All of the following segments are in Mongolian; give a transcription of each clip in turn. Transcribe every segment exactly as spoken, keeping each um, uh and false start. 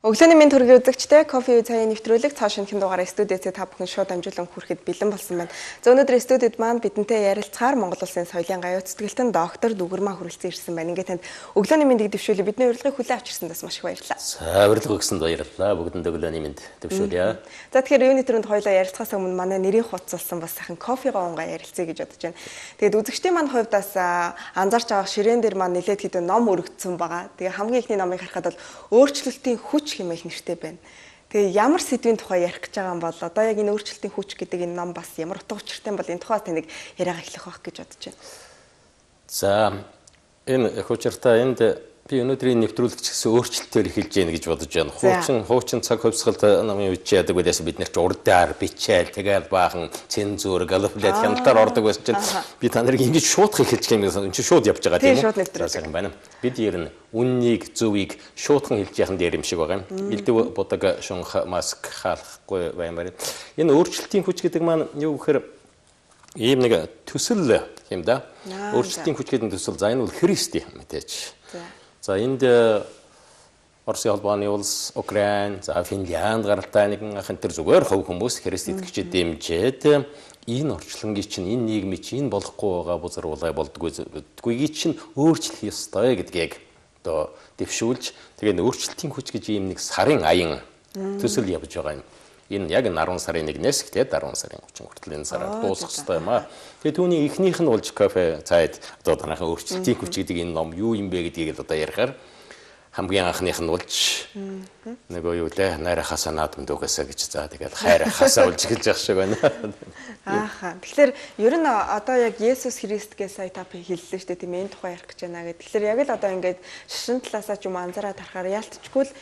Өглөөний мэнд төргийн үзэгчтэй кофе цагийн нэвтрүүлэг цааш шинхэн дугаараа студиэд та бүхэн шууд амжуулан хүрэхэд бэлэн болсон байна. За өнөөдөр студиэд маань бидэнтэй ярилцахаар Монгол Улсын соёлын гаюу цэцгэлтэн доктор Дүгэрмаа хүрэлцэн ирсэн байна. Ингээд танд өглөөний мэндийг дэвшүүлээ. Бидний урилгыг хүлээн авчирсандаас маш их баярлалаа. За урилга өгсөнд баярлалаа. Бүгдэнд өглөөний мэнд дэвшүүлье. За тэгэхээр юуны төрөнд хоёулаа ярилцахаас өмнө манай нэрийн хуцалсан бас сайхан кофего унгаа ярилцъя гэж бодож байна. Тэгээд үзэгчдийн маань хувьд бас анзаарч байгаа ширээн дээр маань нэлээд хэдэн ном өргөцсөн байгаа. Тэгээ хамгийн ихний номыг харахад бол өөрчлөлтийн хүч хэмээх нэртэй байна. Тэгээ ямар сэдвийн тухай ярих гэж байгаа юм бол одоо яг энэ өөрчлөлтийн хүч гэдэг энэ ном бас ямар утга учиртай юм бол энэ тухай таныг яриагаа эхлэх байх гэж бодож байна. За энэ хүчиртэй энд би өнөөдрийн нэвтрүүлэгч гэсэн өөрчлөлтөөр эхэлж яах гэж бодож байна. Хуучин хуучин цаг хувьсгалд намын үеч яадаг байлаас бид нар ч урдаар бичээл тэгэл баахан цензур галофлет хяналтаар ордог байсан чинь би та нарыг ингэж шуудах эхэлж байгаа юм чинь шууд явж байгаа тийм үү? За байна. Бид ер нь үннийг зөвийг шуудхан хэлж яхан дээр юм шиг байгаа юм. Илдэв бодог шунх маск хаалхгүй баймаар. Энэ өөрчлөлтийн хүч гэдэг маань юу гэхээр ийм нэг төсөл юм да. Өөрчлөлтийн хүч гэдэг төсөл за энэ бол Христ юм мэдээж. За энд Оросын холбооны улс, Украин, за Финлянд гаралтай нэгэн ахын төр зүгээр хувь хүмүүс Христ итгэгчид дэмжиж энэ орчлонгийн чинь энэ нийгмийн чинь энэ болохгүй байгаа бузар улай болдгойгүйг чинь өөрчлөх ёстой гэдгийг одоо дэвшүүлж тэгээд өөрчлөлтийн хүч гэж ийм нэг сарын аян төсөл явж байгаа юм. Энэ яг арван сарын нэгнээс тэгээд арван сарын гучин хүртэл энэ сараар дуусах хэрэгтэй юм аа. Тэгээд түүний эхнийх нь болж кофе цайд одоо танайхан өөрчлөлтийн хүч гэдэг энэ ном юу юм бэ гэдгийг одоо ярихаар хамгийн анхных нь болж нөгөө юу лээ найрахасаа наадам дүүгээсэ гэж за тэгээд хайрахасаа болж эхэлж явах шиг байна. Ааха. Тэгэхээр ер нь одоо яг Есүс Христгээс сая та хэллээ шүү дээ тийм энэ тухай ярих гэж байна гэдэг. Тэгэхээр яг л одоо ингээд шашин талаасаа ч юм анзаараад харахаар яалтчгүй л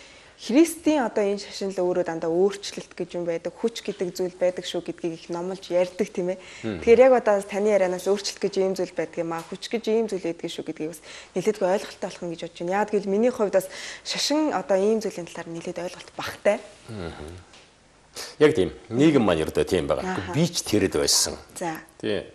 Христийн одоо энэ шашинл өөрөө дандаа өөрчлөлт гэж юм байдаг, хүч гэдэг зүйл байдаг шүү гэдгийг их номлож ярьдаг тийм ээ. Тэгэхээр яг одоо таны ярианаас өөрчлөлт гэж ийм зүйл байдаг юм аа, хүч гэж ийм зүйл байдаг шүү гэдгийг бас нэлээдгүй ойлголттой болох юм гэж бодож байна. Яг гэвэл миний хувьд бас шашин одоо ийм зүйлийн талаар нэлээд ойлголт багтай. Яг тийм. Нийгэм маань ердөө тийм байгаа. Би ч тэрэд байсан. За. Тийм.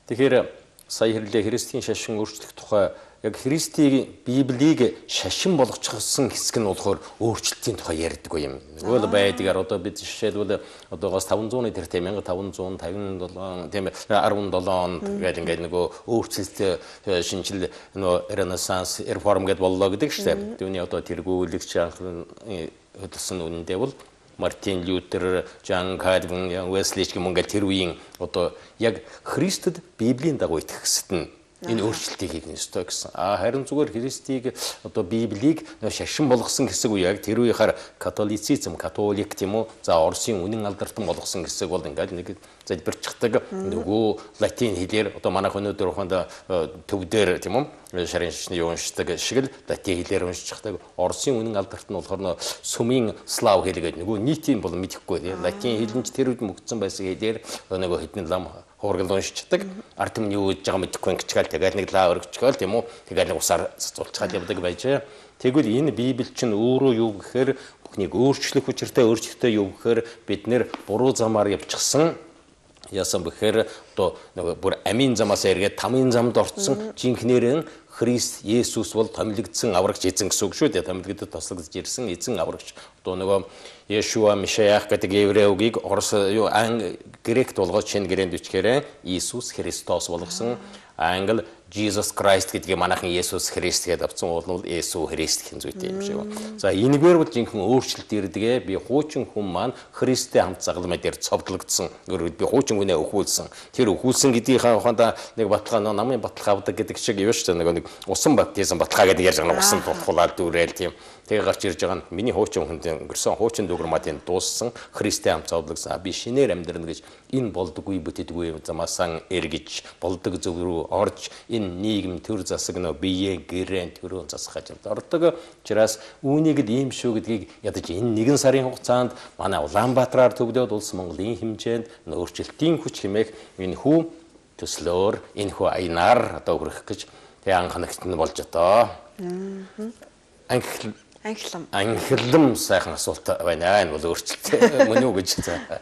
Тэгэхээр сая хэрлээ Христийн шашин өөрчлөх тухай яг Христийн Библийг шашин болгочихсон хэсэг нь болохоор өөрчлөлтийн тухай ярьдаг юм. Нөгөө байдгаар одоо бид жишээлбэл одоогоос таван зууны тэр тийм мянга таван зуун тавин долоо тийм арван долоо онд гэдэг ингээд нөгөө өөрчлөлт шинжил нөгөө Ренессанс реформ гэдээ боллоо гэдэг шүү дээ. Түүний одоо тэргүүлэгч хөдөлсөн үнэндээ бол Мартин Лютер, Жан Кальвин, Уэсли гэх юм ингээд тэр үеийн одоо яг Христэд Библийн дагуу итгэхсэд нь энэ өөрчлөлтийг хийх ёстой гэсэн. А харин зүгээр Христийг одоо Библийг шашин болгосон хэсэг үе яг тэр үеийнхаар католицизм, католик тийм үү? За Оросын үнэн алдартан болгосон хэсэг бол ингээд нэг залбирчдаг нөгөө латин хэлээр одоо манайх өнөөдөр ухаанда төвдөр тийм үү? Шарын шашны уншдаг шиг л латин хэлээр уншчихдаг. Оросын үнэн алдарт нь болохоор сүмийн слав хэл гэдэг нөгөө нийтийн бол мэдэхгүй тийм латин хэлэнч тэр үед мөгдсөн байсан хэлээр нөгөө хэдэн лам хуургал уншчихдаг. Ард юм юу гэж байгаа мэдэхгүй ингэчгээл тэгээд нэг лаа өргөчгээл тийм үү? Тэгээд нэг усаар цацуулчихад явдаг байж. Тэгвэл энэ Библи чинь өөрөө юу гэхээр бүхнийг өөрчлөх хүчтэй өөрчлөлттэй юу гэхээр бид нэр буруу замаар явчихсан. Яасан бэхээр одоо нэг бүр амийн замаас эргээд тамийн замд орцсон жинхнэрэн Христ Есүс бол томилогдсон аврагч эзэн гэсэн үг шүү дээ. Томилогдод тослогдож ирсэн эзэн аврагч. Одоо нөгөө Yeshua Mashiach гэдэг еврей үгийг орос юу ан грект болгож шинэ гэрээнд бичгээрээ Иесус Христос болгосон. Англи Jesus Christ гэдгийг манайхан Есүс Христ гэдэг авсан бол Есүс Христ гэх зүйтэй юм шиг байна. За энэгээр бол жинхэнэ өөрчлөлт ирдэгэ би хуучин хүн маань Христтэй хамт загалмай дээр цовдлогдсон. Өөрөөр би хуучин хүнээ өхүүлсэн. Тэр өхүүлсэн гэдгийнхаа ухаанда нэг баталгаа намын баталгаа авдаг гэдэг шиг юу шүү дээ. Нэг усан баптизм баталгаа гэдэг ярьж байгаа усан тулхуулаад дүүрэл тийм. Тэгээ гарч ирж байгаа нь миний хуучин хүнд өнгөрсөн хуучин дүгэрматын дууссан Христтэй хамт цовдлогдсон. Би шинээр амьдрна гэж энэ болдоггүй бүтэдгүй замаасан эргэж болдог зөв рүү орж энэ нийгэм төр засаг нөө бие гэрэн төрөө засах ажилд ордог. Учраас үүнийг л ийм шүү гэдгийг ядаж энэ нэгэн сарын хугацаанд манай Улаанбаатараар төвлөөд улс Монголын хэмжээнд өөрчлөлтийн хүч хэмээх энэ хүү төслөөр энэ хүү аянаар одоо хүрэх гэж тэг анханагт нь болж одоо. Анх Анхлам. Анхлам сайхан асуулт байна. Энэ бол өөрчлөлт мөн үү гэж.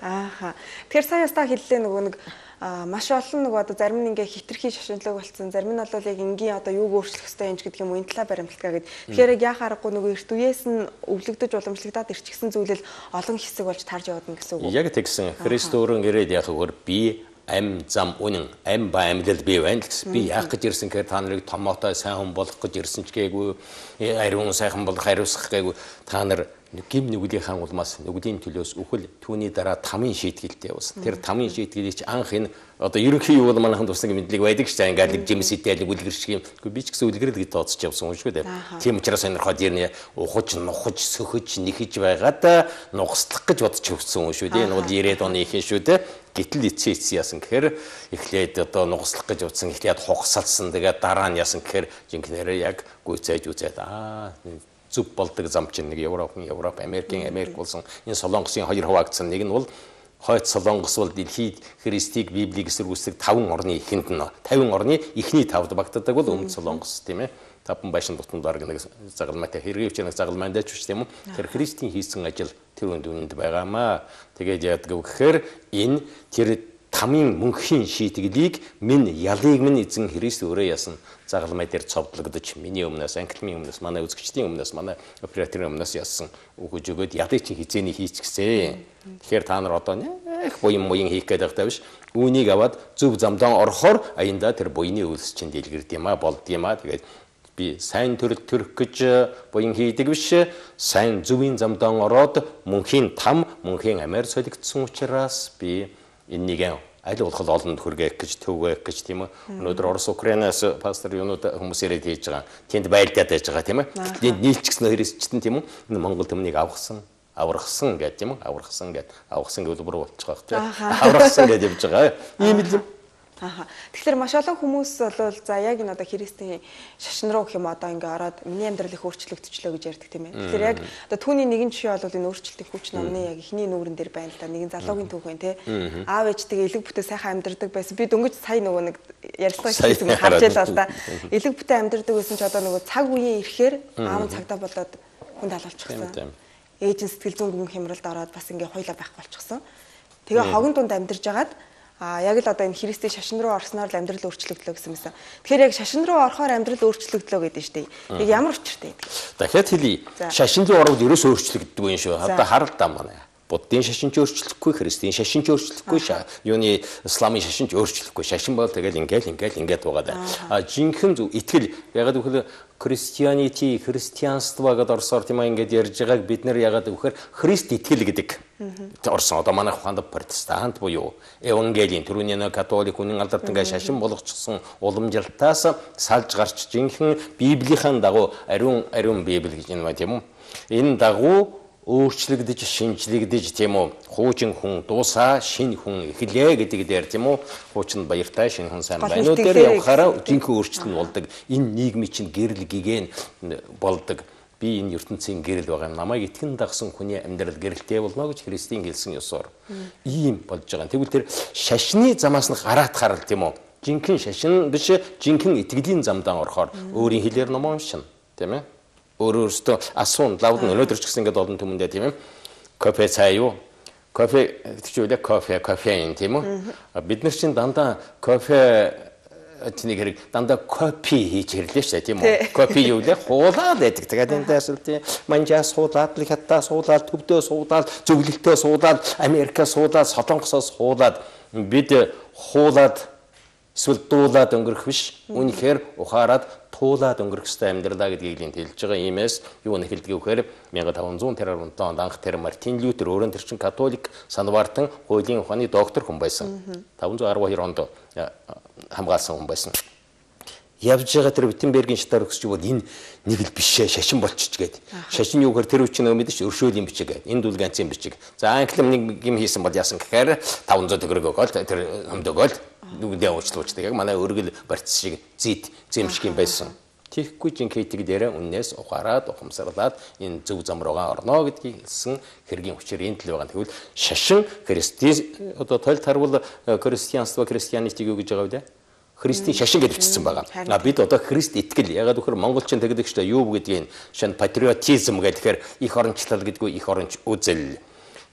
Ааха. Тэгэхээр сая ястаа хэллээ нөгөө нэг маш олон нөгөө одоо зарим нь ингээ хитрхи шашинлог болсон, зарим нь бол яг энгийн одоо юуг өөрчлөх ёстой юм гэдэг юм уу, энэ талаа баримталгаа гэдэг. Тэгэхээр яг яа харахгүй нөгөө эрт үеэс нь өвлөгдөж уламжлагдаад ирчихсэн зүйлэл олон хэсэг болж тарж явна гэсэн үг. Яг тэгсэн. Христ өөрөн ирээд яг хөр би ам зам үнэн ам ба амьдал бий байна гэсэн. Би яах гэж ирсэн гэхээр та нарыг томоотой сайн хүн болох гэж ирсэн ч гээгүй, ариун сайхан болох хариуцах гээгүй. Та нар гим нүглийн улмаас нүглийн төлөөс үхэл түүний дараа тамийн шийтгэлтэй явсан. Тэр тамийн шийтгэлийг чи анх энэ одоо ерөнхий юу бол манайхан тусна мэдлэг байдаг шүү дээ. Ингээд нэг жимсэтэл үлгэр шиг юм. Гэхдээ би ч гэсэн үлгэрэл гэж тооцож явсан юм шүү дээ. Тийм учраас сонирхоод ирнэ ухаж, нухаж, сөхөж, нэхэж байгаад нугслах гэж бодож өгсөн юм шүү дээ. Энэ бол ирээд оны ихэнх шүү дээ. Гэтэл эцээ эцээ яасан гэхээр эхлээд одоо нугслах гэж утсан, эхлээд хугасалсан. Тэгээд дараа нь яасан гэхээр жинхнээр яг гүйцээж үзээд аа зүг болдог зам чинь нэг Европ, Европ, Америкийн Америк болсон энэ Солонгосын хоёр хуваагдсан. Нэг нь бол хойд Солонгос бол дэлхийд Христийг Библийг эсэргүүцдэг таван орны эхэнд нь таван орны эхний тавд багтдаг бол Өмнөд Солонгос тийм ээ. Таван байшин дотор дарга нэг загалмайтай хэрэгч нэг загалмайдаач биш тийм үү. Тэр Христийн хийсэн ажил тэр үнд үнэнд байгаамаа. Тэгээд яадаг вэ гэхээр энэ тэр тамийн мөнхийн шийтгэлийг минь ялыг минь эзэн Христ өөрөө яасан загалмай дээр цовдлогдож миний өмнөөс анхлын өмнөөс манай үзэгчдийн өмнөөс манай операторын өмнөөс яасан өгөж өгөөд ялыг чинь хизээний хийчихсэн. Тэгэхээр та нар одоо нэх буян буян хийх гэдэг та биш. Үүнийг аваад зөв замдаа орохоор аянда тэр буйны үйлс чинь дэлгэрд юм а болд юм а. Тэгээд би сайн төрөл төрөх гэж буян хийдэг биш. Сайн зөвийн замдаа ороод мөнхийн там мөнхийн амиар солигдсон учраас би энийг аль болох олонд хүргээх гэж төвөөх гэж тийм үү. Өнөөдөр Орос Украинаас пастор юунууд хүмүүс ирээд хийж байгаа. Тэнд байлдаад байж байгаа тийм үү. Тэнд нийлчихсэн христчтэн тийм үү. Энэ Монгол төмнийг авахсан, аврахсан гэдэг тийм үү. Аврахсан гэдэг. Авахсан гэвэл бүр болчих واخ тийм. Аврахсан гэж явж байгаа. Ийм л юм. Аха. Тэгэхээр маш олон хүмүүс бол за яг энэ одоо Христийн шашин руу гэх юм одоо ингээ ороод миний амьдрал их өөрчлөгдөчлөө гэж ярьдаг тийм ээ. Тэгэхээр яг одоо түүний нэгэн жишээ бол энэ өөрчлөлтийн хүч номны яг ихний нүүрэн дээр байна л да. Нэгэн залуугийн түүх байна тий. Аав ээжтэйгээ элэг бүтээ сайхан амьдардаг байсан. Би дөнгөж сая нөгөө нэг ярилцлага хийсэн харж байлаа л да. Элэг бүтээ амьдардаг байсан ч одоо нөгөө цаг үеийн ирэхээр аав нь цагдаа болоод хүнд халуулчихсан. Ээж нь сэтгэл зүйн гүн хямралд ороод бас ингээ хойлоо байхгүй болчихсон. Тэгээ хогон дунд амьдарж агаад А яг л одоо энэ Христийн шашин руу орсноор л амьдрал өөрчлөгдлөө гэсэн юмсан. Тэгэхээр яг шашин руу орохоор амьдрал өөрчлөгдлөө гэдэг нь шүү дээ. Яг ямар учиртай гэдэг. Дахиад хэлье. Шашин руу ороод ерөөсөө өөрчлөгддөг юм шүү. Одоо харал та манай. Буддын шашин ч өөрчлөхгүй, Христийн шашин ч өөрчлөхгүй, юуны исламын шашин ч өөрчлөхгүй. Шашин бол тэгэл ингээл ингээл ингээд байгаа даа. А жинхэнэ зөв итгэл ягаад гэвэл Christianity, христианство гэдэг орсоор тийм аа ингээд ярьж байгааг бид нэр ягаад гэвэл Христ итгэл гэдэг. Орсон одоо манай ухаанд протестант буюу евангелийн түрүүний нэг католик үнэн алдарт ингээд шашин болгочихсон уламжлалтаас салж гарч жинхэнэ Библийн дагуу ариун ариун Библи гэж юм байна тийм үү. Энэ дагуу өөрчлөгдөж шинжлэгдэж тийм үү хуучин хүн дуусаа шинэ хүн эхлэе гэдэг дээр тийм үү хуучин баяртай шинэ хүн сайн байна уу дээр явахаараа жинхэнэ өөрчлөлт болдог энэ нийгмийн чинь гэрэл гигэн болдог би энэ ертөнцийн гэрэл байгаа юм намайг итгэн дагсан хүний амьдрал гэрэлтэй болно гэж Христийн хэлсэн ёсоор ийм болж байгаа. Тэгвэл тэр шашны замаас нь гараад харал тийм үү жинхэнэ шашин биш жинхэнэ итгэлийн замдаа орохоор өөрийн хэлээр ном уншина тийм ээ өөрөөсөө асуун лавд нь өнөөдөр ч гэсэн ингээд олон түмэндээ тийм ээ кофе цай юу кофе тэгвэл кофе кофеин тийм үү бид нар чинь дандаа кофе тэнийг хэрэг дандаа копи хийж хэрлээ шүү дээ тийм үү копи юу лээ хуулаад байдаг тэгээд энэ дэсэл тийм манжаа суулаад л хатаа суулаад төвдөө суулаад зөвлөлтөө суулаад Америкаа суулаад Солонгосоос суулаад бид хуулаад эсвэл дуулаад өнгөрөх биш үнэхээр ухаарад туулаад өнгөрөх ёстой амьдралаа гэдгийг хэлж байгаа. Иймээс юу нэг хэлдэг вэхээр мянга таван зуун онд анх тэр Мартин Лютер өөрөө тэр чин католик санваартан хуулийн ухааны доктор хүн байсан. таван зуун арван хоёр онд хамгаалсан хүн байсан. Явж байгаа тэр Виттенбергийн шатаар өгсөж бол энэ нэг л бишээ шашин болчих гээд. Шашин юу гэхээр тэр үчиг нэг мэдээж өршөөлийн бичиг гээд. Энэ дүүл ганцын бичиг. За англим нэг юм хийсэн бол яасан гэхээр таван зуун төгрөг өгөөл тэр өмдөгөөл нүгдээ уучлуулдаг. Яг манай өргөл барьц шиг зэд зэмшиг юм байсан. Тэгэхгүй жинхэнэ дээр үннээс ухаарад ухамсарлаад энэ зөв зам руугаа орно гэдгийг хэлсэн хэргийн хүчээр энэ тал байгаа. Тэгвэл шашин христийн одоо тойл тарвал христианство христианитиг юу гэж байгаа вэ? Христийн шашин гэж бичсэн байгаа. А бид одоо Христ итгэл ягаад гэхээр монголчин тэгдэг шүү дээ. Юу гэдгийг шин патриотизм гэхээр их орончлол гэдгүй их оронч үзэл.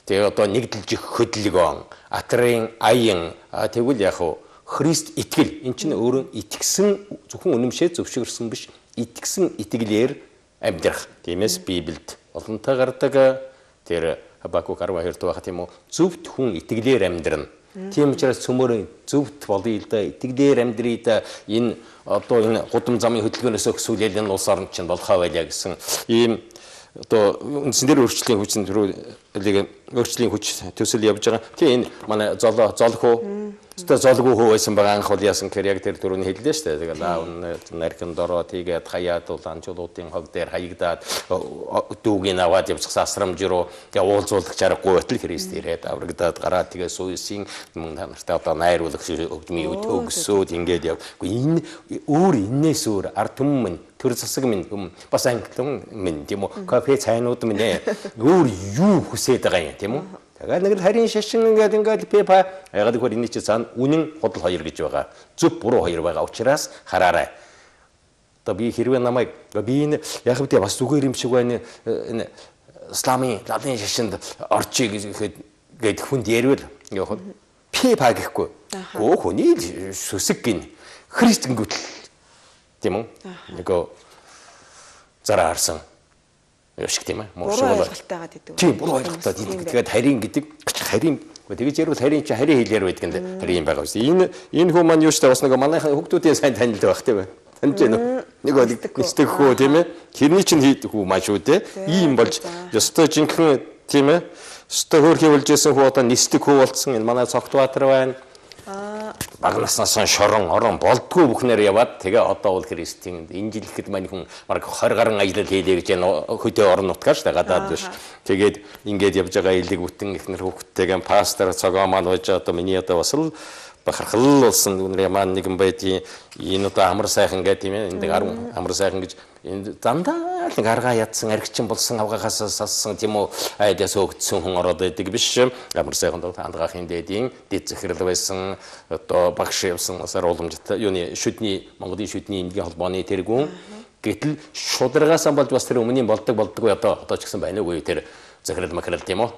Тэгээ одоо нэгдэлж хөдөлгөөн, атрын аян тэгвэл яг хуу Христ итгэл эн чинь өөрөө итгэсэн зөвхөн үнэмшээ зөвшөөрсөн биш итгэсэн итгэлээр амьдрах. Тиймээс Библиэд олонтой гардаг тэр Хабакук арван хоёр дахь тийм үү зөвхт хүн итгэлээр амьдрна. Тийм учраас цөмөр зөвхт болъё л да итгэлээр амьдрий да энэ одоо энэ гудам замын хөдөлгөөнөөс өксүүлэл энэ улс орнд чинь болохоо байлаа гэсэн ийм одоо үндсэндэр өөрчлөлийн хүчин төрөө өөрчлөлийн хүч төсөл явж байгаа. Тийм энэ манай золоо золхоо өстой золгүй хөө байсан байгаа анх бол яасан гэхээр яг тэр дөрөвний хэллээ шүү дээ. Тэгээд аав наркин дороо тийгээд хаяад улаанчуудын хог дээр хаягдаад дүүгийн аваад явчихсан асрамж руу тэгээд уулзуулагч аргагүй байтал Христ ирээд аврагдаад гараад тэгээд сүйсийн мөн та нартай одоо найруулах өгдмийн өгсөөд ингээд явгүй энэ өөр энээс өөр ард түмэн төр засаг минь бас англин минь тийм үү кафе цайнууд минь өөр юу хүсээд байгаа юм тийм үү. Тэгээд нэг л харийн шашин ингээд ингээд пепа ягаад гэвэл энэ чинь цаана үнэн худал хоёр гэж байгаа. Зөв буруу хоёр байгаа учраас хараарай. Одоо би хэрвээ намайг би энэ яг хэвдээ бас зүгээр юм шиг байна энэ исламын лалын шашинд орчий гэхэд гээд хүнд ярил яг пепа гэхгүй. Гөө хүний сүсэг гин Христ гингүүтэл тийм үү? Нөгөө зараа харсан юу шиг тийм ээ. Буруу ойлголтойгаа гэдэг. Тийм буруу ойлголтой. Тэгээд харийн гэдэг харийн тэгэж ярил харийн чи харийн хэлээр байдаг энэ харийн байгаа шүү. Энэ энэ хүмүүс маань юу ч бас нэг манайхан хүүхдүүдийн сайн танилд байх тийм ээ. Таньж байна уу? Нэг бол нэстэг хөө тийм ээ. Хэрний чинь хийдэг хүү маш үү те. Ийм болж ёстой жинхэнэ тийм ээ. Ёстой хөөрхий болж исэн хүү одоо нэстэг хүү болцсон. Энэ манай Цогтбаатар байна. Бага наснаас шорон орон болдгоо бүхнээр яваад тэгээ одоо бол Христийн энэ жил ихэд мань хүн баг двадцать гаруй аялал хийлээ гэж хөдөө орон нутгаар шүү дээ гадаад биш. Тэгээд ингээд явж байгаа илэг бүтэн ихнэр хүүхдтэйгээ пастор цогоо маань байж одоо миний одоо бас л бахархал болсон үнээр маань нэгэн байдгийн энэ одоо амар сайхан гэдэг тийм ээ энэ арван амар сайхан гэж энэ дандаа нэг аргаа ядсан аргичин болсон авгаагаас салсан тийм үү айдас өгдсөн хүн ороод байдаг биш амар сайхан хандгаахын дэдийн дэд захирал байсан одоо багш явсан асар уламжтай юуны шүдний Монголын шүдний эмнэлгийн холбооны тэргүүн гэтэл шударгаасаа болж бас тэр өмнө нь болдог болдгоо одоо одоо ч гэсэн байна уу тэр захирал макрал тийм үү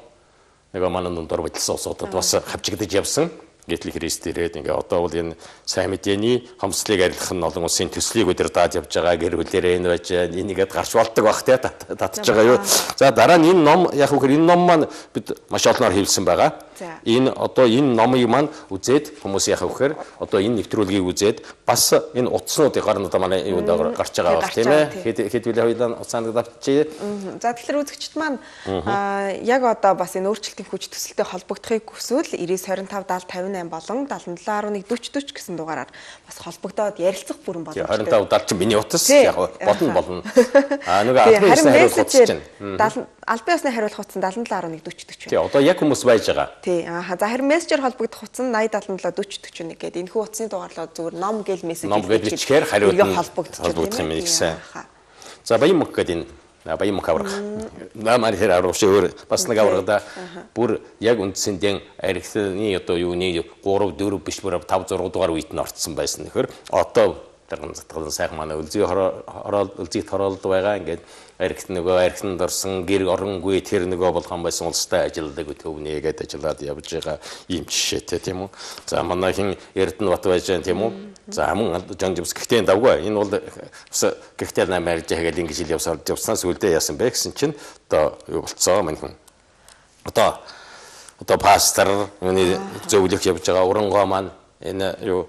нэг манай дундор бодсон усуудад бас хавчигдаж явсан. Гэтэл Христ ирээд ингээ одоо бол энэ сайн мэдээний хомслыг арилгах нь олон улсын төслийг өдөр даад явж байгаа гэр бүлэрээ энэ байж энийгээд гарч болдог бах те татж байгаа юу. За дараа нь энэ ном яг үхээр энэ ном маань бид маш олноор хэвлсэн байгаа. Энэ одоо энэ номыг маань үзээд хүмүүс яг үхээр одоо энэ нэвтрүүлгийг үзээд бас энэ утаснуудыг гарна одоо манай юунд гарч байгаа бах тийм ээ. Хэд хэд үлээ хоёлаа уцаанд давчээ. За тэгэхээр үзэгчд маань яг одоо бас энэ өөрчлөлтийн хүч төсөлтэй холбогдохыг хүсвэл девять two five даал тавинtám болон seventy seven eleven forty forty гэсэн дугаараар бас холбогдоод ярилцах бүрэн боломжтой. twenty-five даал чинь миний утас яг болно болно. Аа нөгөө албан ёсны хариулах утас чинь. Албан ёсны хариулах утас seventy seven eleven forty forty. Тий одоо яг хүмүүс байж байгаа. Тий аа за харин мессежээр холбогдох утас нь ninety seven seven forty forty-one гэдэг энэ хүү утасны дугаарлаа зүгээр ном гэл мессеж хийчихээр хариулт холбогдох юм гэсэн. За баян мөх гэдэг энэ баян мөх аврах. Намаар хэр аврах шөөр бас нэг аврагда бүр яг үндсэндээ архины одоо юуны three four биш бүр five six дугаар үед нь орцсон байсан. Тэгэхээр одоо тэрэн затгалан сайхан манай үлзий хороол үлзийт хороолд байгаа ингээд архит нөгөө архинд орсон гэр оронгүй тэр нөгөө болгон байсан улстай ажилладаг төвнээ гээд ажиллаад явж байгаа юм жишээтэй тийм үү. За манайхын Эрдэнэ бат байж байгаа тийм үү. За мөн Жонжимс гэхдээ давгүй энэ бол гэхдээ намайг жаагаад ингэж ил явсаар явсан сүлдээ яасан бэ гэсэн чинь одоо юу болцоо манайхан одоо одоо пастор юуны зөвлөх явж байгаа урангоо маань энэ юу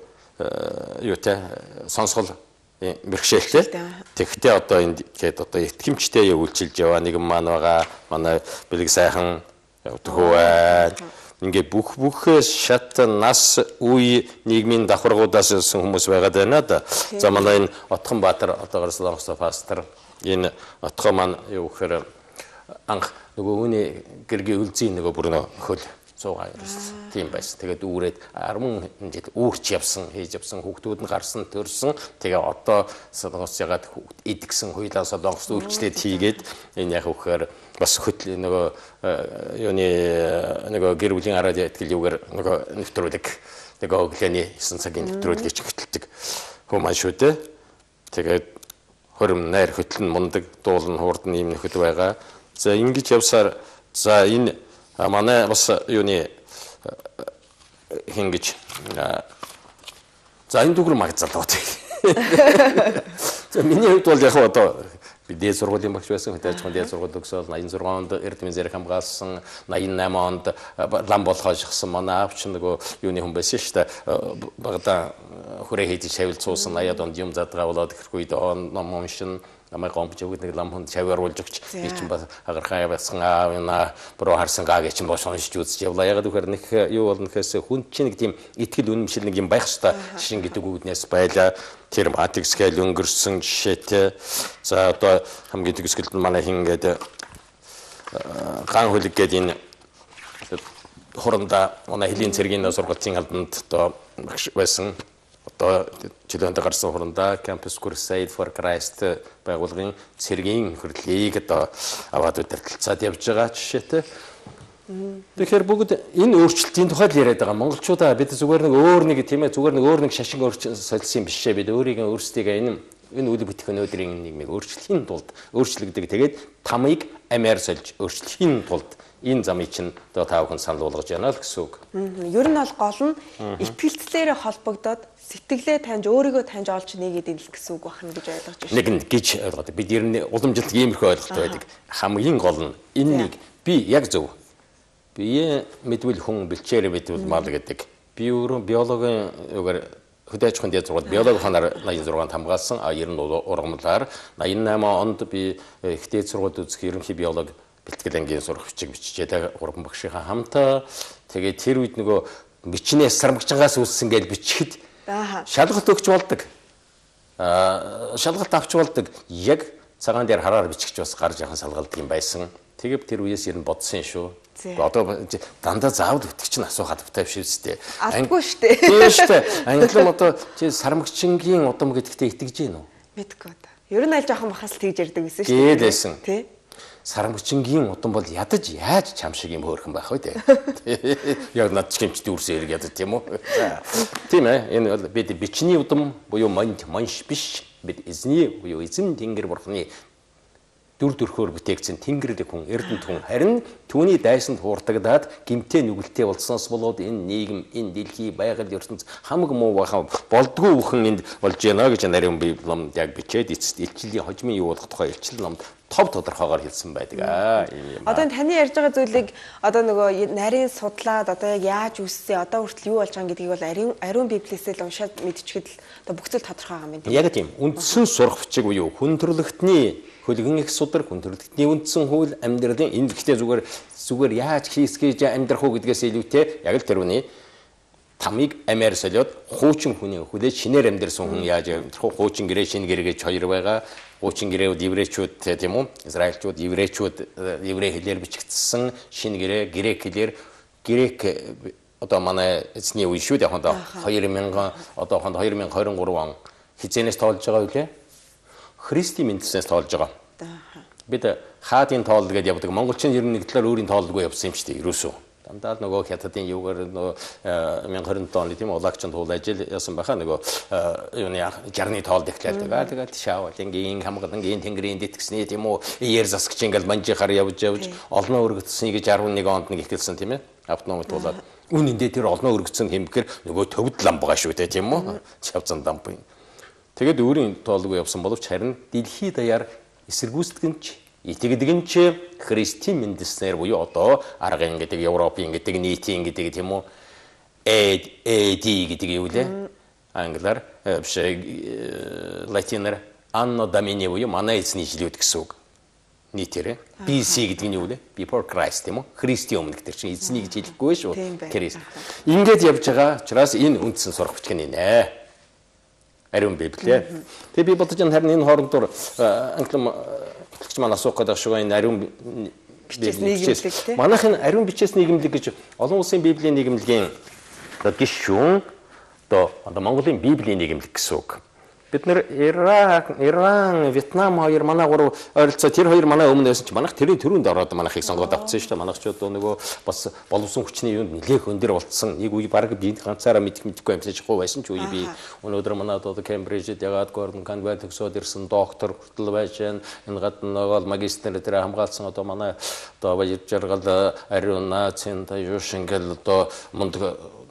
юутай сонсгол бэрхшээлтэй. Тэгэхдээ одоо энд гээд одоо итгэмжтэй үйлчилж яваа нэгэн маань байгаа. Манай бэлэг сайхан явдггүй байна. Ингээ бүх бүхээс шат нас үе нийгмийн давхаргуудаас ирсэн хүмүүс байгаад байна да. За манай энэ Отхон Баатар одоо Солонгос пастор энэ Отхон маань юу гэхээр анх нөгөө үүний гэргийн үлзий нөгөө бүр нөө хөл цуугаа ирсэн. Тийм байсан. Тэгээд үүрээд ten жил үүрч явсан, хийж явсан, хүүхдүүд нь гарсан, төрсөн. Тэгээ одоо Солонгос ягаад идгсэн хуйлаа Солонгос үйлчлээд хийгээд энэ яг үхээр бас хөтл нөгөө юуны нөгөө гэр бүлийн араад ятгэл юугаар нөгөө нэвтрүүлэг Тэгээ өглөөний есөн цагийн нэвтрүүлгийг хөтэлдэг хүмүүс шүү дээ. Тэгээд хорим найр хөтлөн мундаг дуулан хуурдан ийм нөхөд байгаа. За ингэж явсаар за энэ манай бас юуны хингэж за энэ дүгэр магзалууд. За миний хувьд бол яг одоо би дээд сургуулийн багш байсан. Хөтөлж байгаа дээд сургууль төгсөөл восемьдесят шесть онд Эрдэмийн зэрэг хамгаалсан, восемьдесят восемь онд лам болгож шахсан манай аав чинь нөгөө юуны хүн байсан шүү дээ. Багада хүрээ хийж шавилцуулсан восемьдесят онд юм задгаа болоод ирэх үед ном уншин намайг гомбож өгд нэг лам хүнд шавьяруулж өгч би чинь бас агархаа явсан аав на буруу харсан гаа гэж чинь бош уншиж үзэж явлаа. Яг үхээр нэг юу болно гэхээс хүн чинь нэг тийм итгэл үнэмшил нэг юм байх хэвээр шин гэдэг үгнээс байлаа. Тэр математиксгээл өнгөрсөн жишээтэй. За одоо хамгийн төгсгөлд нь манай хин гэдэг ган хөлөг гэдэг энэ хуранда манай хэлийн цэргийн сургуулийн албанд одоо багш байсан. Одоо жилөнд гарсан хуранда Campus Crusade for Christ байгууллагын цэргийн хөрлийг одоо аваад удирдалцаад явж байгаа жишээтэй. Тэгэхээр бүгд энэ өөрчлөлтийн тухай л яриад байгаа. Монголчуудаа бид зүгээр нэг өөр нэг тийм ээ зүгээр нэг өөр нэг шашин солисон юм биш ээ. Бид өөрийн өөрсдийгээ энэ энэ үйл бүтээх өнөөдрийн нийгмийг өөрчлөхийн тулд өөрчлөгдөг. Тэгээд тамыг амиар сольж өөрчлөхийн тулд энэ замыг чинь одоо тав хүн санал болгож байна л гэсэн үг. Ер нь бол гол нь итгэлцлээрээ холбогдоод сэтгэлээ таньж өөрийгөө таньж олж нэгээд ийн л гэсэн үг байна гэж ойлгож байна. Нэг нь гэж ойлгоод бид ер нь уламжилт иймэрхүү ойлголт байдаг. Хамгийн гол нь энэнийг би яг зөв бие мэдвэл хүн бэлчээр мэдвэл мал гэдэг. Би өөрөө биологийн үгээр хөдөөж хүн дээр зургаад биологи ханаар восемьдесят шесть хамгаалсан. А ер нь ургамлаар восемьдесят восемь онд би ихтэй сургууль үзэх ерөнхий биологи бэлтгэл ангийн сурах бичиг биччихээ гурван багшийнхаа хамтаа. Тэгээд тэр үед нөгөө бичнээс сармагчангаас үүссэн гэж бичихэд шалгалт өгч болдог. Аа шалгалт авч болдог. Яг цагаан дээр хараар бичгч бас гарч яхан салгалдаг юм байсан. Тэгээд тэр үеэс ер нь бодсон шүү. Одоо дандаа заавал өтгч нь асуух хадвтай биш үстэй. Алдгүй штэ. Тийм штэ. Англим одоо чи сармагчингийн удам гэдэгтээ итгэж гин үү? Мэдгүй одоо. Ер нь аль жоохон бахас тэгж ярьдаг гэсэн штэ. Гээдсэн. Тий. Сармагчингийн удам бол ядаж яаж чам шиг юм хөөрхөн байх вэ те. Яг над ч гэмчтэй үрсээр ядаж тийм үү? Тийм ээ. Энэ бол бид бичний удам буюу манд манш биш. Бид эзний буюу эзэн тэнгэр бурхны дүр төрхөөр бүтээгдсэн тэнгэрийн хүн, эрдэнэт хүн харин түүний дайсанд хуурдагдаад гимтэй нүгэлтэй болсноос болоод энэ нийгэм, энэ дэлхий, байгаль ертөнц хамаг муу бахан болдгүй бүхэн энд болж байна гэж нарийн би ном яг бичээд эцэст илчлийн хожмын юу болох тухай илчил номд тов тодорхойгоор хэлсэн байдаг аа. Одоо таны ярьж байгаа зүйлийг одоо нөгөө нарийн судлаад одоо яг яаж үссэн, одоо хүртэл юу болж байгаа гэдгийг бол ариун ариун библиэсээ л уншаад мэдчихэд л одоо бүх зүйл тодорхой байгаа юм байна. Яг тийм. Үндсэн сурах бичиг буюу хүн төрлөختний хөлгөн их судар хүн төрлөختний үндсэн хууль амьдралын энэ гэхдээ зүгээр зүгээр яаж хийсгэж амьдрах уу гэдгээс илүүтэй яг л тэр үний тамыг амиар солиод хуучин хүний хүлээж шинээр амьдрсан хүн яаж амьдрах уу хуучин гэрээ шинэ гэрээ гэж хоёр байгаа. Хуучин гэрээ еврейчүүд тийм үү? Израильчууд еврейчүүд еврей хэлээр бичигдсэн шинэ гэрээ грек хэлээр грек одоо манай эзний үе шүү дээ одоо две тысячи одоо две тысячи двадцать три он хизэнээс тоолж байгаа үлээ. Христийн мэдснээс тоолж байгаа. Бид хаадын тоол гэдээ явдаг. Монголчин ер нь нэг талаар өөрийн тоолгүй явсан юм шүү дээ. Ерөөсөө. Дандаа нөгөө хятадын юугаар нөгөө две тысячи оны тийм улагчанд туул ажил яасан байхаа нөгөө юуны жарны тоол дэхлэлдэг. Аа тэгээд шаавал ингийн хамгаалан тэнгэрийн дэтгсний тийм үү яэр засагч ингээл манжихаар явж явж олноо өргөцсөнийг гэж арван нэг онд нэг ихэлсэн тийм ээ. Автономи туулаад үнэндээ тэр олноо өргөцсөн хэмбэхээр нөгөө төвд лам байгаа шүү дээ тийм үү. Чавцан ламп. Тэгээд өөрийн тоолгүй явсан боловч харин дэлхий даяар эсэргүүцдэгч итгэдэгэн ч Христийн мэдснээр буюу одоо аргын гэдэг Европын гэдэг нийтийн гэдэг тийм үү эд эди гэдэг юу лээ англиар биш латинаар анно домини буюу манай эзний жилүүд гэсэн үг нийтээрээ би си гэдэг нь юу лээ before Christ тийм үү Христийн өмнө гэдэг чинь эзний гэж хэлэхгүй шүү Христ ингээд явж байгаа учраас энэ үндсэн сурах бичиг нэ ариун библиэ тэгээ би бодож байгаа харин энэ хоорондоор англим ч маань асуух гэдэг шиг энэ ариун бичээс нийгэмлэг манайхын ариун бичээс нийгэмлэг гэж олон улсын библийн нийгэмлэгийн одоо гишүүн одоо одоо Монголын библийн нийгэмлэг гэсэн үг. бид нэр Ирак, Иран, Вьетнам хоёр манай гурав ойролцоо тэр хоёр манай өмнө байсан чи манайх тэрийн төрөнд ороод манайхыг сонгоод авцсан шүү дээ. Манайхчууд нөгөө бас боловсон хүчний юунд нэлээх өндөр болцсон. Нэг үе баг би ганцаараа мэдэх мэдхгүй амьсаж хуу байсан ч үе би өнөөдөр манай одоо Кембрижид ягаад Гордон Конвент төгсөөд ирсэн доктор хүртэл байж байна. Энэ гадна нөгөө магистр дээр хамгаалсан одоо манай одоо баяр жаргал ариун нацийн тайвшин гэл одоо мунд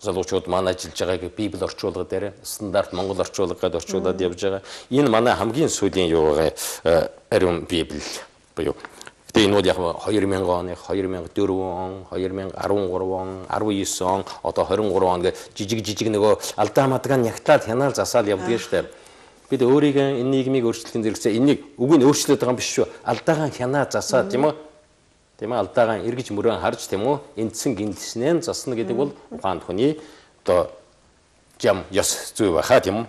залуучууд манай ажиллаж байгааг Библи орчуулга дээр стандарт Монгол орчуулгад орчуулад явж байгаа. Энэ манай хамгийн сүүлийн юу байгаа ариун Библи буюу. Тэгээ энэ бол яг хоёр мянган оны, хоёр мянга дөрвөн он, хоёр мянга арван гурав он, арван девять он, одоо двадцать три он гэ жижиг жижиг нөгөө алдаа мадгаан нягтлаад хянаал засаал явдаг шүү дээ. Бид өөрийгөө энэ нийгмийг өөрчлөхийн зэрэгцээ энийг үг нь өөрчлөд байгаа юм биш шүү. Алдаагаа хянаа засаа тийм үү? Тийм ээ алдаагаа эргэж мөрөн харж тийм үү эндсэн гинлснээ засна гэдэг бол ухаанд хүний одоо жам ёс зүй байхаа тийм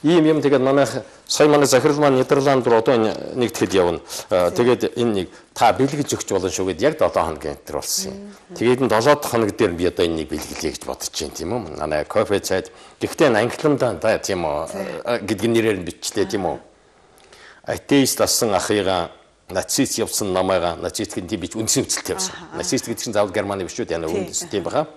үү ийм юм тэгээд манай сая манай захирал маань Нидерланд руу одоо нэг тэгэхэд явна тэгээд энэ нэг та бэлгэж өгч болно шүү гэд яг долоо хоногийн энэ болсон юм тэгээд энэ долоо хоног дээр би одоо энийг бэлгэлье гэж бодож байна тийм үү манай кофе цайд гэхдээ англамдаа да тийм үү гэдэг нэрээр нь бичлээ тийм үү атеист асан ахыгаа нацист явсан намайга нацистийн тийм бич үндсэн хүчтэй явсан. Нацист гэдэг чинь заавал Германы биш үү? Яна үндсэн тийм баха.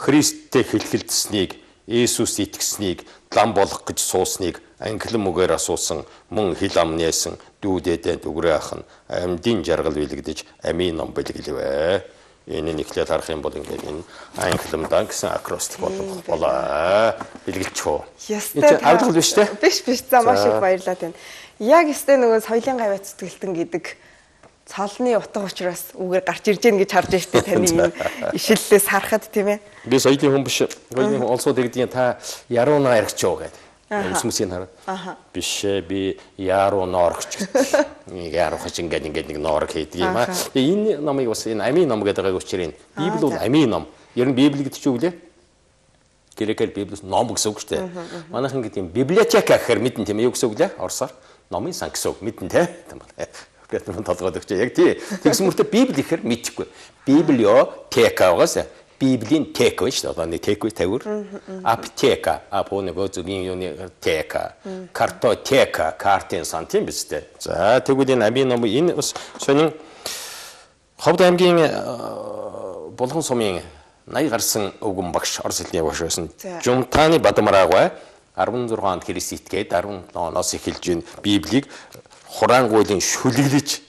Христтэй хэлхэлдсэнийг, Иесус итгэснийг лам болох гэж суусныг англин үгээр асуусан, мөн хил амнээсэн дүүдээдээ дүгрээ ах нь амьдын жаргал билэгдэж амийн ном бэлгэлвэ. Энэ нэглэл харах юм бол ингээд энэ англимдан гэсэн акростик болох болоо. Бэлгэлчихөө. Ястай. Авдал биш үү? Биш биш. За маш их баярлалаа тань. Яг өстэй нөгөө соёлын гавьяа цэцгэлтэн гэдэг цолны утга учраас үгээр гарч ирж гэн гэж харж штэ таны энэ ишиллээс харахад тийм ээ. Би соёлын хүн биш. Соёлын хүн олсоо дэгдийн та ярууна яригчоо гэдэг. Хүмүүсийн хараад. Биш ээ би яруу ноорогч гэдэг. Нэг яруу хач ингээд ингээд нэг ноорог хийдэг юм аа. Тэгээ энэ номыг бас энэ амийн ном гэдэг учраас Библи бол амийн ном. Ер нь Библи гэдэг чинь үглээ. Грекээр Библиэс ном гэсэн үг шүү дээ. Манайхан гэдэг юм библиотека гэхээр мэдэн тийм ээ юу гэсэн үг лээ? Орсоор номын сан гэсэн үг мэдэн те. Бэтэн толгойд өгч яг тий. Тэгсэн мөртөө Библи гэхээр мэдхгүй. Библиотека байгаас Библийн тек биш одоо нэг тек тавир. Аптека, апо нөгөө зүгийн юуны тека, картотека, картын сан тийм биз дээ. За тэгвэл энэ амийн ном энэ бас сонин Ховд аймгийн Булган сумын наяа гарсан өвгөн багш орос хэлний багш байсан. Жумтааны Бадамраагаа арван зургаан онд Христ итгээд арван оноос эхэлж ин Библийг хураангуйлын шүлэглэж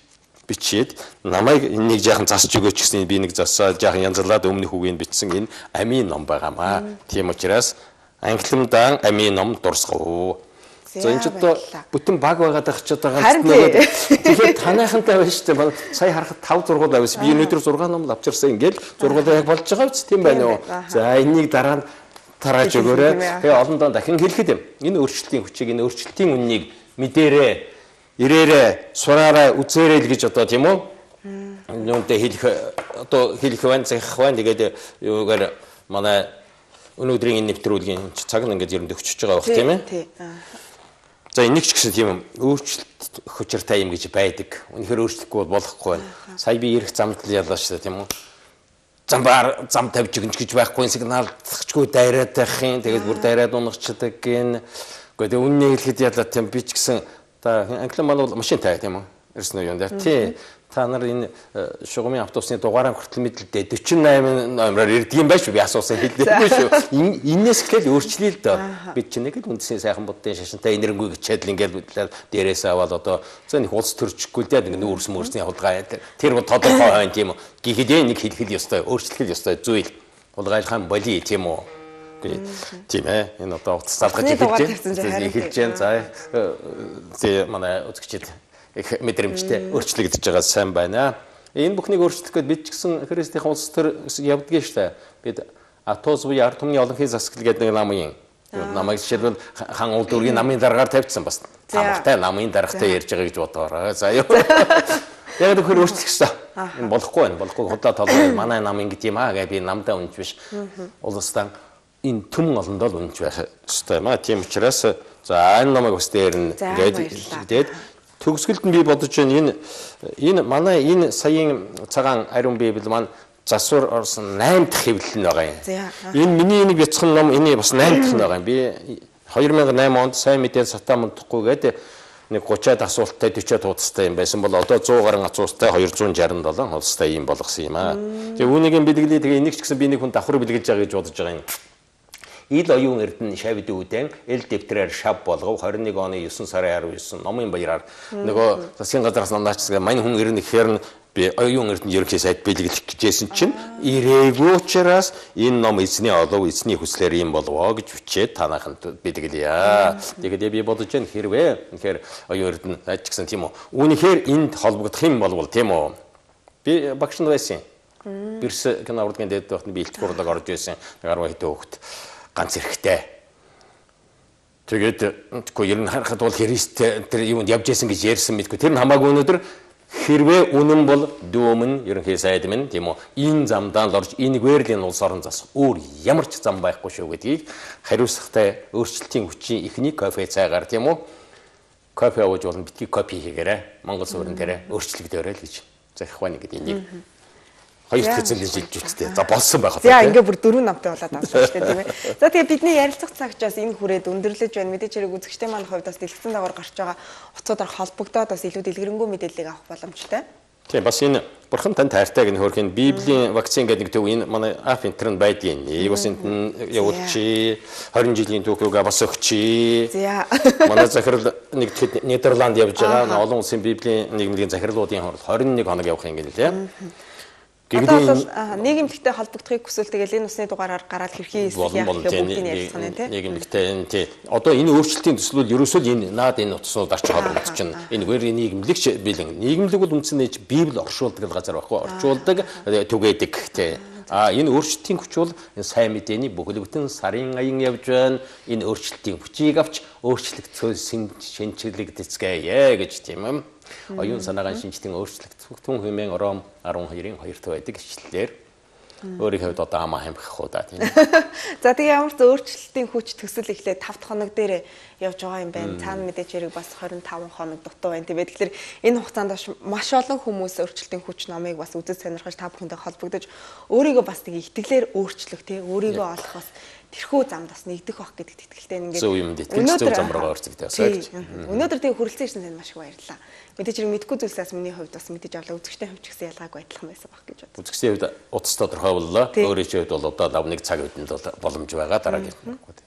бичээд намайг энийг жаахан засч өгөөч гэсэн би нэг засаа жаахан янзлаад өмнөх үгийг бичсэн энэ амийн ном байгаамаа. Тийм учраас англимдан амийн ном дурсгав. За энэ ч одоо бүтэн баг байгаад байх ч одоо ганц нэг тэгэхээр таныхантай байна шүү дээ. Сая харахад тавь зургуул авсан. Би өнөөдөр зургаан ном авчирсан ингээл зургуулаа яг болж байгаа биз тийм байна уу? За энийг дараа нь тарааж өгөөрэй. Тэгээ олондоо дахин хэлэхэд юм. Энэ өөрчлөлтийн хүчийг энэ өөрчлөлтийн үннийг мэдээрээ, ирээрээ, сураарай, үзээрэй л гэж одоо тийм үү? Нүнтэй хэлэх одоо хэлэх байна, захих байна. Тэгээд юугаар манай өнөөдрийн энэ нэвтрүүлгийн цаг нь ингээд ер нь өгчөж байгаа байх тийм ээ. За энийг ч гэсэн тийм өөрчлөлт хүчиртай юм гэж байдаг. Үнэхээр өөрчлөхгүй бол болохгүй байна. Сая би ирэх замд л яллаа шүү дээ тийм үү? Замбар зам тавьж өгнч гэж байхгүй сигнал тахчгүй дайраад байх юм. Тэгээд бүр дайраад унагчдаг гин. Гэхдээ үннийг хэлэхэд яллаа тийм би ч гэсэн та англин маань бол машинтай тийм үү? Ирсэн үү юм дээр тий. Та нар энэ шугамын автобусны дугаараа хүртэл мэдлээ дөрвөн восемь номероор ирдэг юм байж би асуусан хэлдэггүй шүү. Иннээс ихэл өөрчлөе л доо. Бид чинь нэг л үндсийн сайхан буддын шашинтай энергүй гिचээл ингээл дээрээс аваад одоо за нэг улс төрчихгүй л дээ нэг нүүрс мөрсний хулгай тэр тодорхой байна тийм үү. Гэхдээ нэг хэлхэл ёстой өөрчлөх ёстой зүйл. Хулгайлахын боли тийм үү. Тийм ээ. Энэ одоо утас залгаж эхэлж байна. Эхэлж байна. За зэ манай үзэгчид их мэдрэмжтэй өөрчлөгдөж байгаа сайн байна. Энэ бүхнийг өөрчлөх гээд бид ч гэсэн Христийн улс төр явдгийн штэ. Бид Атос буюу ард түмний олонхын засаглал гэдэг нэг намын намайг жишээлбэл хан улдүргийн намын дараагаар тавьчихсан бас. Тамартай намын дарагтай ярьж байгаа гэж бодоорой. За юу. Яг тэр өөрчлөх ёстой. Энэ болохгүй байна. Болохгүй худлаа толгой манай нам ингэ тийм аа гэ би намдаа үнж биш. Улстай энэ түмэн олондоо л үнж байх ёстой маа. Тийм учраас за энэ намайг бас дээр нь ингээд тэгээд төгсгөлд нь би бодож байна энэ энэ манай энэ саяын цагаан ариун библи маань засвар орсон восемь дахь хэвлэл нь байгаа юм. Энэ миний энийг бяцхан ном энэ бас восемь дахь нь байгаа юм. Би хоёр мянган и осм онд сайн мэдээ сатаа мунтахгүйгээд нэг гучаад асуулттай дөрвөөд хуудастай юм байсан бол одоо зуун гаруй асуулттай хоёр зуун шарсан долоо хуудастай юм болгосон юм аа. Тэгээ үүнийг бэлгэлээ тэгээ энийг ч гэсэн би нэг хүн давхар бэлгэлж байгаа гэж бодож байгаа юм. Ил оюун эрдэнэ шавид үүдэн эл дэвтрээр шав болгов двадцать один оны девятнадцать сарын двадцать девять номын баяраар нөгөө засгийн газраас намнаачсан мань хүн ирнэ гэхээр нь би оюун эрдэнэ ерөнхий сайд бэлгэлэх гэжсэн чинь ирээгүй учраас энэ ном эзний олов эзний хүслээр юм болвоо гэж бичээд танаханд бэлгэлье. Тэгээд би бодож байна хэрвээ тэгэхээр оюун эрдэнэ ч гэсэн тийм үү. Үүнийхээр энд холбогдох юм болвол тийм үү. Би багш нь байсан. Бирс кино урлагийн дэд байхад би илт хурлаг орж байсан. арван хэдэн хүүхэд ганц эрэхтэй. Тэгээд тэгэхгүй ер нь харахад бол Христ тэр юунд явж исэн гэж ярьсан мэдгүй. Тэр нь хамаагүй өнөөдөр хэрвээ үнэн бол дүүмэн ерөнхий сайд минь тийм үү энэ замдаа л орж энийг вэрлийн улс орон засах өөр ямар ч зам байхгүй шүү гэдгийг хариуцлагатай өөрчлөлтийн хүчийн эхний кофе цайгаар тийм үү кофе ууж болно битгий копи хийгээрэй Монгол суурин дээрээ өөрчлөгдөөрэй л гэж захих байна гэдэг энийг хоёр хэзээ жилж үсттэй. За болсон байх уу. За ингээ бүр дөрөв намтай болоод авсан шүү дээ тийм ээ. За тэгээ бидний ярилцах цагч бас энэ хүрээд өндөрлөж байна. Мэдээж хэрэг үзэгчтэй маань хувьд бас дэлгэцэн дагавар гарч байгаа утсуудаар холбогдоод бас илүү дэлгэрэнгүй мэдээллийг авах боломжтой. Тийм бас энэ бурхан тань тайртай гэх хөрхийн Библийн вакцин гэдэг нэг төв энэ манай ап интерн байдгийн. Энийг бас энд явуулчих. двадцать жилийн түүхийгээ бас өгчий. За. Манай захирал нэг тэгэхэд Нидерланд явж байгаа. Олон улсын Библийн нийгмийн захирлуудын хооронд двадцать один хоног явах юм гээл лээ. Одоо бол нийгэмлэгтэй холбогдохыг хүсвэл тэгэл энэ усны дугаараар гараад хэрхий хийх яах гэх бүгдийг ярилцах нь тийм нийгэмлэгтэй энэ тий одоо энэ өөрчлөлтийн төслүүд ерөөсөө энэ наад энэ утаснууд арч холбогдож чинь энэ вэр нийгэмлэгч бэлэн нийгэмлэг бол үндсэндээ Библи оршуулдаг газар байхгүй орчуулдаг түгээдэг тий а энэ өөрчлөлтийн хүч бол энэ сайн мэдээний бүхэлдэн сарын аян явж байна энэ өөрчлөлтийн хүчийг авч өөрчлөгдсөн шинжлэгдэцгээе гэж тийм юм оюун санаагийн шинжтэн өөрчлөлт түн хэмээн Ром арван хоёрын хоёрт байдаг ишлэлээр өөрийнхөө хувьд одоо хамаа хамхах уу да тийм. За тэгээ ямар ч өөрчлөлтийн хүч төсөл эхлээд тавд хоног дээр явж байгаа юм байна. Цаана мэдээж хэрэг бас двадцать пять хоног дутуу байна. Тийм. Тэгэхээр энэ хугацаанд маш олон хүмүүс өөрчлөлтийн хүч номыг бас үзэж сонирхож та бүхэндээ холбогдож өөрийгөө бас нэг итгэлээр өөрчлөх тийм өөрийгөө олох бас тэрхүү замд бас нэгдэх байх гэдэгт итгэлтэй ингээд зөв юм дээ. Зөв зам руу орцгдээ бас гэж. Өнөөдөр тэгээ хүрэлцэн ирсэн танд маш их баярлалаа. Мэдээж хэрэг мэдгүй зүйлсээс миний хувьд бас мэдээж авлаа үзэгчтэй хувьд ч гэсэн ялгаагүй адилхан байсан байх гэж бодлоо. Үзэгчдийн хувьд утас тодорхой боллоо. Өөрийн хувьд бол одоо лав нэг цаг үедэнд бол боломж байгаа дараагийн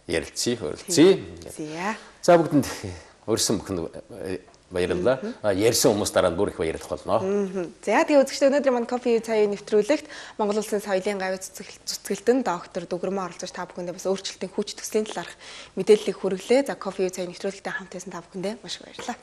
ярилцъя, хөрөлцъя. За бүгдэнд өрсөн бүхэн баярлалаа. Ярьсан хүмүүс дараа нь бүр их баярлах болно. За тэгээ үзэгчдээ өнөөдөр манай кофе цаяа нэвтрүүлэгт Монгол Улсын соёлын гавь цэцгэлтэн доктор Дүгэрмэн оролцож та бүхэндээ бас өөрчлөлтийн хүч төслийн талаарх мэдээллийг хүргэлээ. За кофе цаяа нэвтрүүлэгтээ хамт байсан та бүхэндээ маш их баярлалаа.